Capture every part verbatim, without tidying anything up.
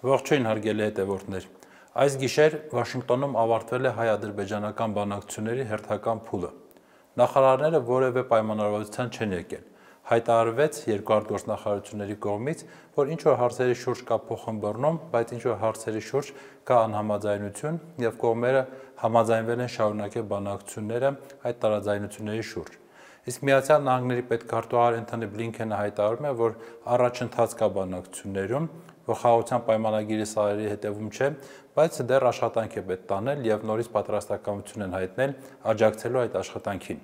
Ողջույն հարգելի հետևորդներ։ Այս գիշեր Վաշինգտոնում ավարտվել է հայ-ադրբեջանական բանակցությունների հերթական փուլը։ Նախարարները որևէ պայմանավորվածության չեն եկել։ Հայտարարվեց երկու արտգործնախարարությունների կողմից, որ ինչ-որ հարցերի շուրջ կա փոխըմբռնում, բայց ինչ-որ հարցերի շուրջ կա անհամաձայնություն եւ կողմերը համաձայնվել են շարունակել բանակցությունները այդ տարաձայնությունների շուրջ։ Իսկ Միացյալ Նահանգների պետքարտուղար Էնթոնի Բլինքենը հայտարարում է, որ առաջընթաց կա բանակցություններում, որ խաղաղության պայմանագիրի սահերի հետևում չէ, բայց դեռ աշխատանք է պետք տանել եւ նորից պատրաստակամություն են հայտնել աջակցելու այդ աշխատանքին։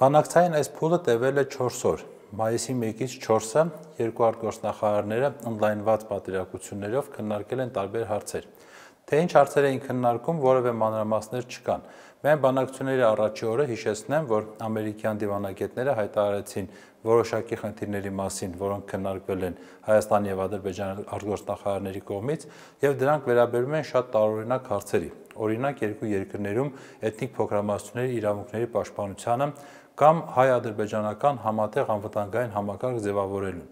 Բանակցային այս փուլը տևել է չորս օր։ Մայիսի մեկից չորսը երկու արտգործնախարարները օնլայնված պատվիրակություններով քննարկել են տարբեր հարցեր։ Թե ինչ հարցեր էին քննարկում, որևէ մանրամասներ չկան։ Միայն բանակցությունների առաջի օրը հիշեցնեմ, որ ամերիկյան դիվանագետները հայտարարեցին որոշակի խնդիրների մասին, որոնք քննարկվել են Հայաստանի եւ Ադրբեջանի արտգործնախարարների կողմից, եւ դրանք վերաբերում են շատ տարօրինակ հարցերի։ Օրինակ, երկու երկրներում էթնիկ փոքրամասնությունների իրավունքների պաշտպանությանը կամ հայ-ադրբեջանական համատեղ անվտանգային համակարգ ձևավորելուն։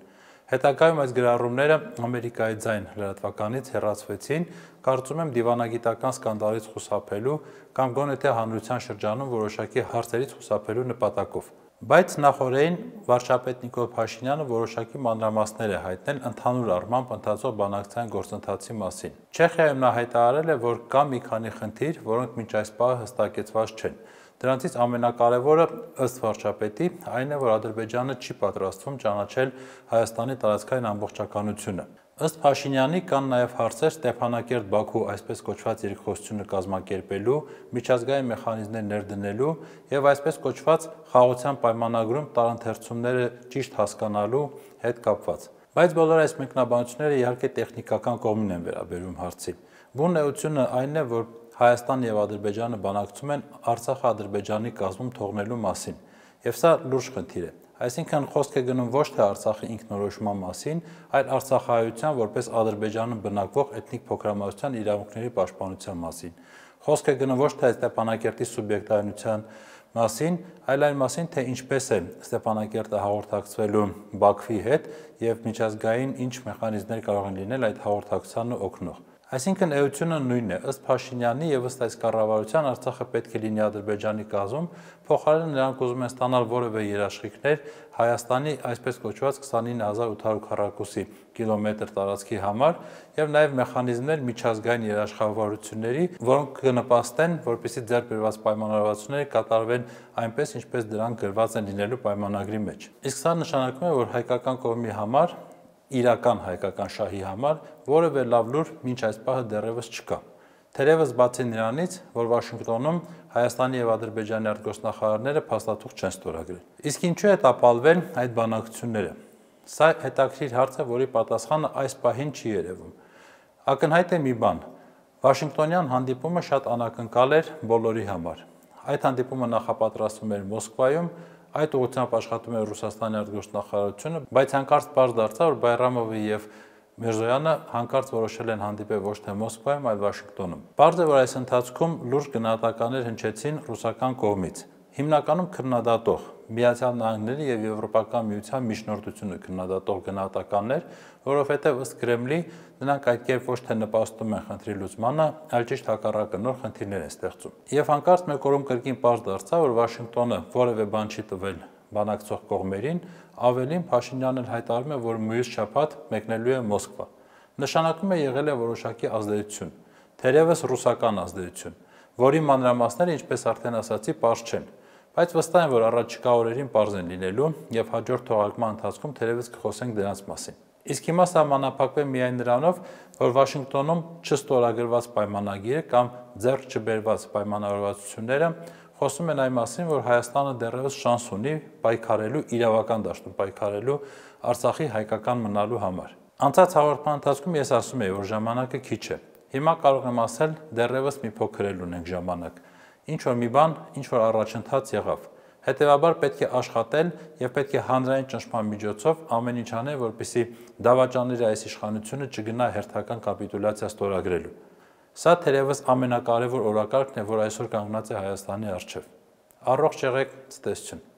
Հետագայում այս գրառումները Ամերիկայի ձայն լրատվականից հեռացվեցին, կարծում եմ դիվանագիտական սկանդալից խուսափելու կամ գոնե թե հանրության շրջանում որոշակի հարցերից խուսափելու նպատակով։ Բայց նախօրեին վարչապետ Նիկոլ Փաշինյանը որոշակի մանրամասներ է հայտնել ընդհանուր առմամբ ընթացող բանակցային գործընթացի մասին։ Չեխիայում նա հայտարարել է, որ կա մի քանի խնդիր, որոնք մինչ այս պահը հստակեցված չեն։ Դրանցից ամենակարևորը ըստ վարչապետի այն է, որ Ադրբեջանը չի պատրաստվում ճանաչել Հայաստանի տարածքային ամբողջականությունը։ Ըստ Փաշինյանի կան նաև հարցեր Ստեփանակերտ-Բաքու այսպես կոչված երկխոսությունը կազմակերպելու, միջազգային մեխանիզմներ ներդնելու եւ այսպես կոչված խաղաղության պայմանագրում տարընթերցումները ճիշտ հասկանալու հետ կապված։ Բայց բոլոր այս մեկնաբանությունները իհարկե տեխնիկական կողմին են վերաբերում հարցի։ Բուն էությունը այն է, որ Հայաստանն եւ Ադրբեջանը բանակցում են Արցախը Ադրբեջանի կազմում թողնելու մասին, եւ սա լուրջ խնդիր է։ Այսինքն խոսք է գնում ոչ թե Արցախի ինքնորոշման մասին, այլ արցախահայության որպես Ադրբեջանում բնակվող էթնիկ փոքրամասնության իրավունքների պաշտպանության մասին։ Խոսք է գնում ոչ թե Ստեփանակերտի սուբյեկտայնության մասին, այլ այն մասին, թե ինչպես է Ստեփանակերտը հաղորդակցվելու Բաքվի հետ եւ միջազգային ինչ մեխանիզմներ կարող են լինել այդ հաղորդակցությանը օգնող։ Այսինքն էությունը նույնն է, ըստ Փաշինյանի եւ ըստ այս կառավարության Արցախը պետք է լինի Ադրբեջանի կազմում, փոխարենը նրանք ուզում են ստանալ որևէ երաշխիքներ Հայաստանի այսպես կոչված քսանինը հազար ութ հարյուր քառակուսի կիլոմետր տարածքի համար եւ նաեւ մեխանիզմներ միջազգային երաշխավորությունների, որոնք կնպաստեն, որպեսզի ձեռք բերված պայմանավորվածությունները կատարվեն այնպես, ինչպես դրանք գրված են լինելու պայմանագրի մեջ։ Իսկ սա նշանակում է, որ հայկական կողմի համար իրական հայկական շահի համար որևէ լավ լուր մինչ այս պահը դեռևս չկա։ Թերևս բացի նրանից, որ Վաշինգտոնում Հայաստանի եւ Ադրբեջանի արտգործնախարարները փաստաթուղթ չեն ստորագրել։ Իսկ ինչու է տապալվել այդ բանակցությունները։ Սա հետաքրքիր հարց է, որի պատասխանը այս պահին չի երևում։ Ակնհայտ է մի բան. Վաշինգտոնյան հանդիպումը շատ անակնկալ էր բոլորի համար։ Այդ հանդիպումը նախապատրաստվում էր Մոսկվայում, այդ ուղղությամբ աշխատում էր Ռուսաստանի արտգործնախարարությունը, բայց հանկարծ պարզ դարձավ, որ Բայրամովը եւ Միրզոյանը հանկարծ որոշել են հանդիպել ոչ թե Մոսկվայում, այլ Վաշինգտոնում։ Պարզ է, որ այս ընթացքում լուրջ գնահատականներ հնչեցին ռուսական կողմից։ Հիմնականում քննադատող Միացյալ Նահանգների եւ Եվրոպական միության միջնորդությունը քննադատող գնահատականներ, որովհետեւ ըստ Կրեմլի նրանք այդ կերպ ոչ թե նպաստում են խնդրի լուծմանը, այլ ճիշտ հակառակը նոր խնդիրներ են ստեղծում։ Եվ հանկարծ մեկ օրում կրկին պարզ դարձավ, որ Վաշինգտոնը որևէ բան չի տվել բանակցող կողմերին, ավելին Փաշինյանն հայտարարում է, որ մյուս շաբաթ մեկնելու է Մոսկվա։ Նշանակում է եղել է որոշակի ազդեցություն, թերևս ռուսական ազդեցություն, որի մանրամասները, ինչպես արդեն ասացի, պարզ չեն, բայց վստահ եմ, որ առաջիկա օրերին պարզ են լինելու եւ հաջորդ թողարկման ընթացքում թերևս կխոսենք դրանց մասին։ Իսկ հիմա սահմանափակվեմ միայն նրանով, որ Վաշինգտոնում չստորագրված պայմանագիրը կամ ձեռք չբերված պայմանավորվածությունները խոսում են այն մասին, որ Հայաստանը դեռևս շանս ունի պայքարելու իրավական դաշտում, պայքարելու Արցախի հայկական մնալու համար։ Անցած հաղորդման ընթացքում ես ասում եի, որ ժամանակը քիչ է։ Հիմա կարող եմ ասել, դեռևս մի փոքր էլ ունենք ժամանակ։ Ինչ որ մի բան, ինչ որ առաջընթաց եղավ։ Հետևաբար պետք է աշխատել եւ պետք է հանրային ճնշման միջոցով ամեն ինչ անել, որպեսզի դավաճանների այս իշխանությունը չգնա հերթական կապիտուլյացիա ստորագրելու։ Սա թերևս ամենակարևոր օրակարգն է, որ այսօր կանգնած է Հայաստանի առջև։ Առողջ եղեք, ցտեսություն։